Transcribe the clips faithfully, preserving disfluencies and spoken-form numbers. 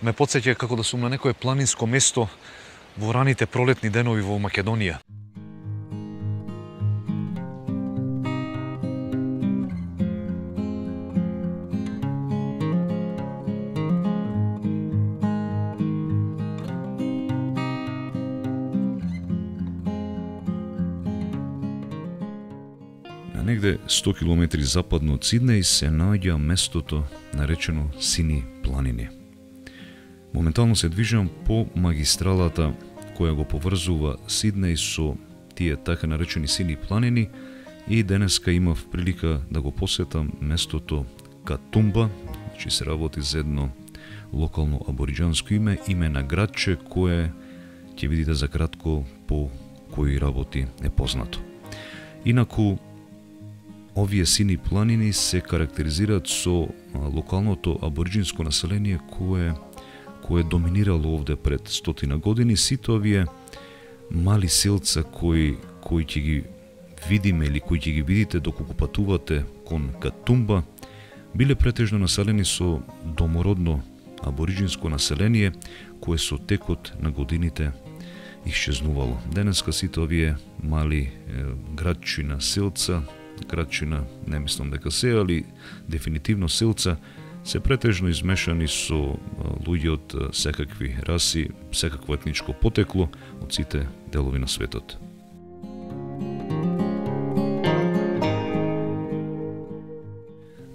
ме потсеќа како да сум на некое планинско место во раните пролетни денови во Македонија. Негде сто километри западно од Сиднеј се наоѓа местото наречено Сини планини. Моментално се движам по магистралата која го поврзува Сиднеј со тие така наречени Сини планини и денеска имав прилика да го посетам местото Катумба, значи се работи за едно локално абориџанско име, име на градче кое ќе видите за кратко по кои работи е познато. Инаку овие Сини планини се карактеризираат со локалното абориџинско население кое кое доминирало овде пред стотина години. Сите овие мали селца кои кои ќе ги видиме или кои ќе ги видите доколку патувате кон Катумба биле претежно населени со домородно абориџинско население кое со текот на годините исчезнувало. Денеска сите овие мали е, градчина селца, градчина не мислам дека се, али дефинитивно селца, се претежно измешани со луѓе од секакви раси, секакво етничко потекло од сите делови на светот.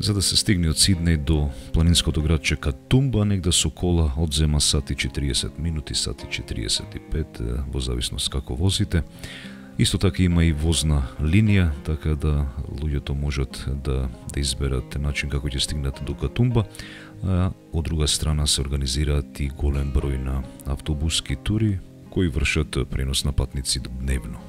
За да се стигне од Сиднеј до планинското градче Катумба, негде со кола одзема сат и четириесет минути, сат и четириесет и пет, во зависност како возите. Исто така има и возна линија, така да луѓето можат да, да изберат начин како ќе стигнат до Катумба, а од друга страна се организираат и голем број на автобуски тури кои вршат пренос на патници дневно.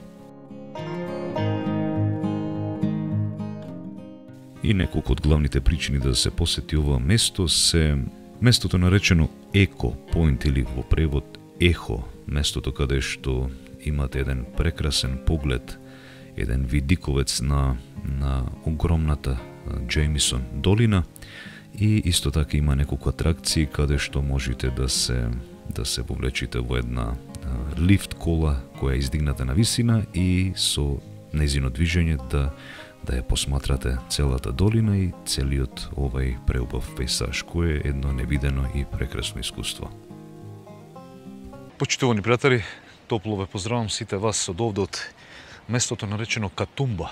И неколку од главните причини да се посети ова место се местото наречено Еко Поинт или во превод Ехо, местото каде што имате еден прекрасен поглед, еден видиковец на, на огромната Джеймисон долина и исто така има неколку атракции каде што можете да се да се повлечите во една лифт кола која е издигната на висина и со нејзино движење да да ја посматрате целата долина и целиот овај преубав пейсаж, кој е едно невидено и прекрасно искуство. Почитувани пријатели, топло ве поздравам сите вас од овде од местото наречено Катумба,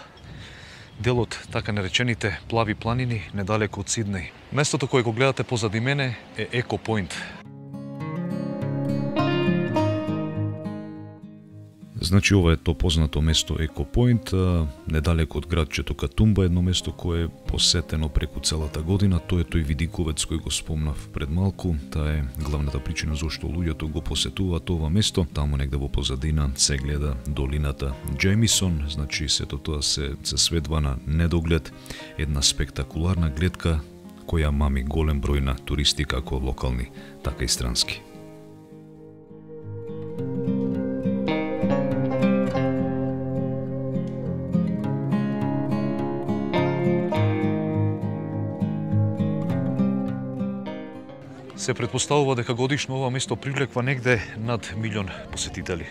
делот така наречените плави планини недалеку од Сиднеј. Местото кое го гледате позади мене е Еко Поинт. Значи ова е то познато место Еко Поинт, недалеку од градчето Катумба, едно место кое е посетено преку целата година. Тоа е тој видиковец кој го спомнав пред малку. Таа е главната причина зашто луѓето го посетуваат ова место. Таму негде во позадина се гледа долината Джеймисон, значи сето тоа се, се сведва на недоглед, една спектакуларна гледка која мами голем број на туристи како локални, така и странски. Се претпоставува дека годишно ова место привлекува негде над милион посетители.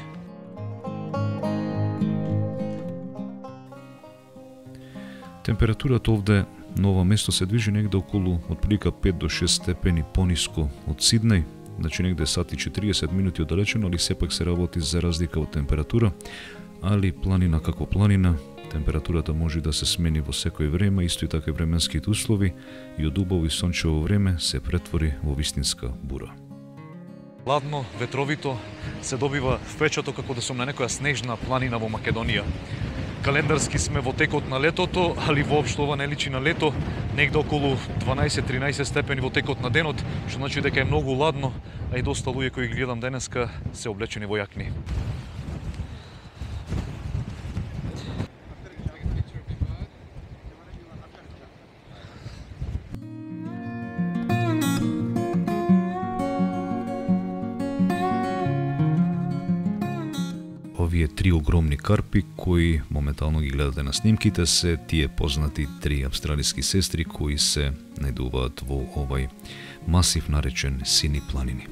Температурата овде на ова место се движи негде околу отприлика пет до шест степени пониско од Сиднеј, значи негде сат и четириесет минути оддалечено, али сепак се работи за разлика од температура, али планина како планина, температурата може да се смени во секој време, исто и така и временските услови, и од убаво и сончево време се претвори во вистинска бура. Ладно, ветровито, се добива впечаток како да сум на некоја снежна планина во Македонија. Календарски сме во текот на летото, али воопшто ова не личи на лето, негде околу дванаесет до тринаесет степени во текот на денот, што значи дека е многу ладно, а и доста луѓе кои ги гледам денеска се облечени во јакни. овие три огромни карпи кои моментално ги гледате на снимките се тие познати три австралиски сестри кои се најдуваат во овај масив наречен Сини планини.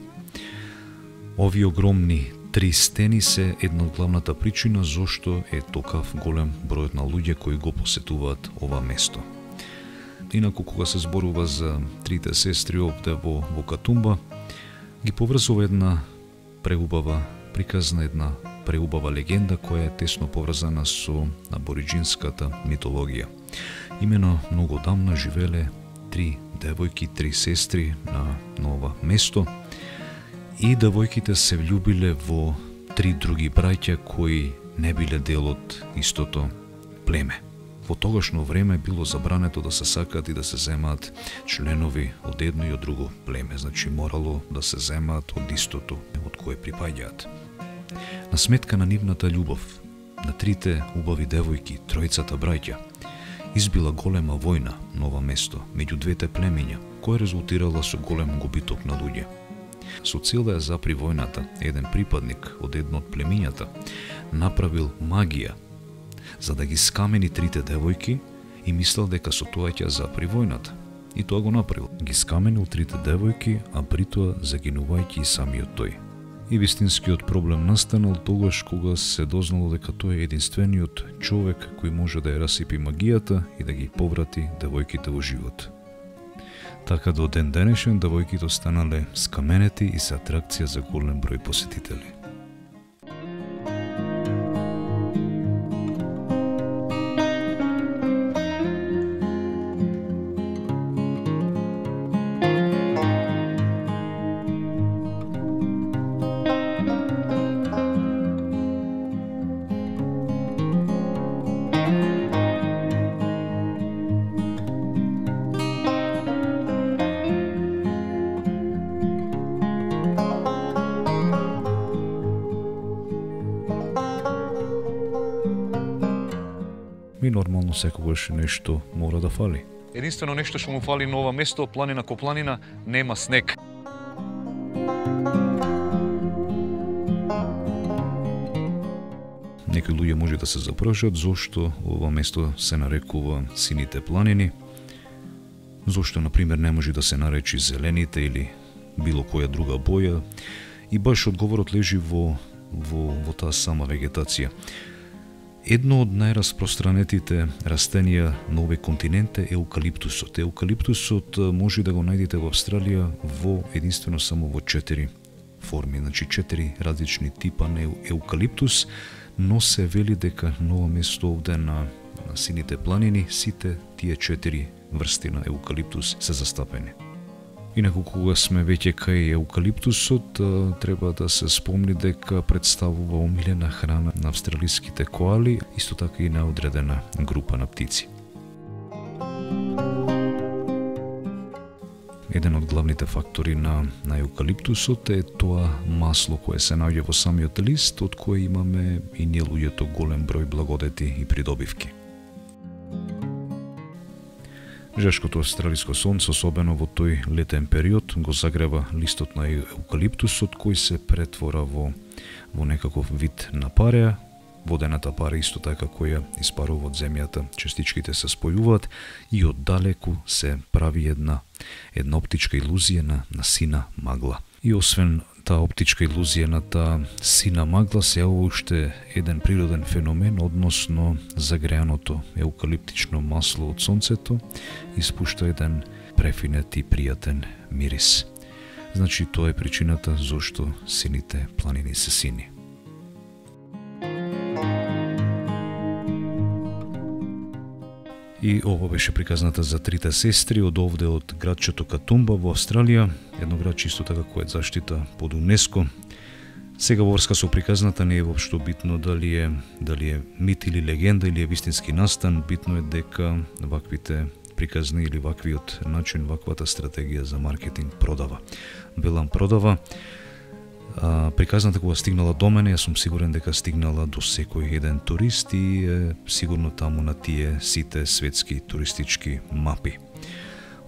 Овие огромни три стени се една од главната причина зошто е токав голем бројот на луѓе кои го посетуваат ова место. Инаку кога се зборува за трите сестри овде во, во Катумба, ги поврзува една преубава приказна, една преубава легенда која е тесно поврзана со абориджинската митологија. Имено многу дамна живеле три девојки, три сестри на, на ова место и девојките се влюбиле во три други браќа кои не биле дел од истото племе. Во тогашно време било забрането да се сакат и да се земаат членови од едно и од друго племе, значи морало да се земаат од истото од кое припаѓаат. На сметка на нивната љубов, на трите убави девојки, тројцата браќа, избила голема војна на ова место меѓу двете племиња, која резултирала со голем губиток на луѓе. Со цел да ја запри војната, еден припадник од едно од племињата направил магија за да ги скамени трите девојки и мислел дека со тоа ќе запри војната. И тоа го направил. Ги скаменил трите девојки, а при тоа загинувајќи и самиот тој. И вистинскиот проблем настанал тогаш кога се дознало дека тој е единствениот човек кој може да ја расипи магијата и да ги поврати девојките во живот. Така до ден денешен девојките останале скаменети и се атракција за голем број посетители. И нормално секогаш нешто мора да фали. Единствено нешто што му фали на ова место, планина ко планина, нема снег. Некои луѓе може да се запрашат зошто ова место се нарекува Сините планини, зошто, например, не може да се наречи Зелените или било која друга боја, и баш одговорот лежи во, во, во таа сама вегетација. Едно од најраспространетите растенија на овој континент е еукалиптусот. Еукалиптусот може да го најдете во Австралија во единствено само во четири форми, значи четири различни типа на еукалиптус, но се вели дека на ова место овде на, на Сините планини сите тие четири врсти на еукалиптус се застапени. Инаку кога сме веќе кај еукалиптусот, треба да се спомни дека представува омилена храна на австралиските коали, исто така и на одредена група на птици. Еден од главните фактори на, на еукалиптусот е тоа масло кое се наоѓа во самиот лист, од кое имаме и ние луѓето голем број благодети и придобивки. Жешкото австралиско сонце, особено во тој летен период, го загрева листот на еукалиптусот кој се претвора во, во некаков вид на пареа. Водената пара исто така која испарува од земјата, частичките се спојуваат и оддалеку се прави една, една оптичка илузија на, на сина магла. И освен таа оптичка илузија на таа сина магла се јавува уште еден природен феномен, односно загреаното еукалиптично масло од сонцето испушта еден префинет и пријатен мирис. Значи тоа е причината зошто Сините планини се сини. И ова беше приказната за трите сестри од овде од градчето Катумба во Австралија, едно градче исто така кое е заштита под УНЕСКО. Сега во врска со приказната не е воопшто битно дали е дали е мит или легенда или е вистински настан, битно е дека ваквите приказни или ваквиот начин, ваквата стратегија за маркетинг продава. Велам продава. А, приказната кога стигнала до мене, јас сум сигурен дека стигнала до секој еден турист и е сигурно таму на тие сите светски туристички мапи.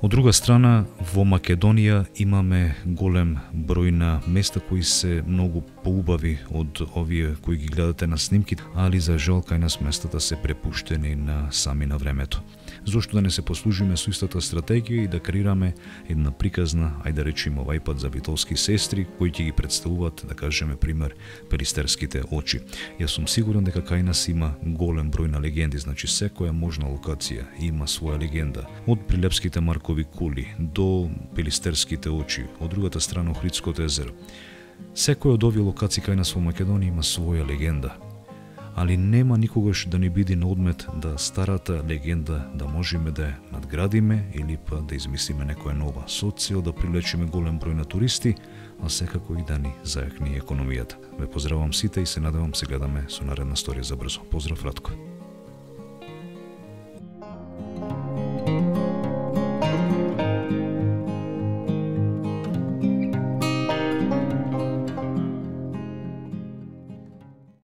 Од друга страна, во Македонија имаме голем број на места кои се многу поубави од овие кои ги гледате на снимките, али за жал кај нас местата се препуштени на сами на времето. Зошто да не се послужиме со истата стратегија и да креираме една приказна, ајде да речеме овај пат за битолски сестри, кои ќе ги представуваат, да кажеме пример, Пелистерските очи. Јас сум сигурен дека кај нас има голем број на легенди, значи секоја можна локација има своја легенда. Од Прилепските Маркови кули до Пелистерските очи, од другата страна Охридското езеро. Секоја од овие локации кај нас во Македонија има своја легенда. Али нема никогаш да ни биде на одмет да старата легенда да можеме да ја надградиме или па да измислиме некоја нова со цел да привлечеме голем број на туристи, а секако и да ни зајакни економијата. Ве поздравам сите и се надевам се гледаме со наредна сторија за брзо. Поздрав, Радко.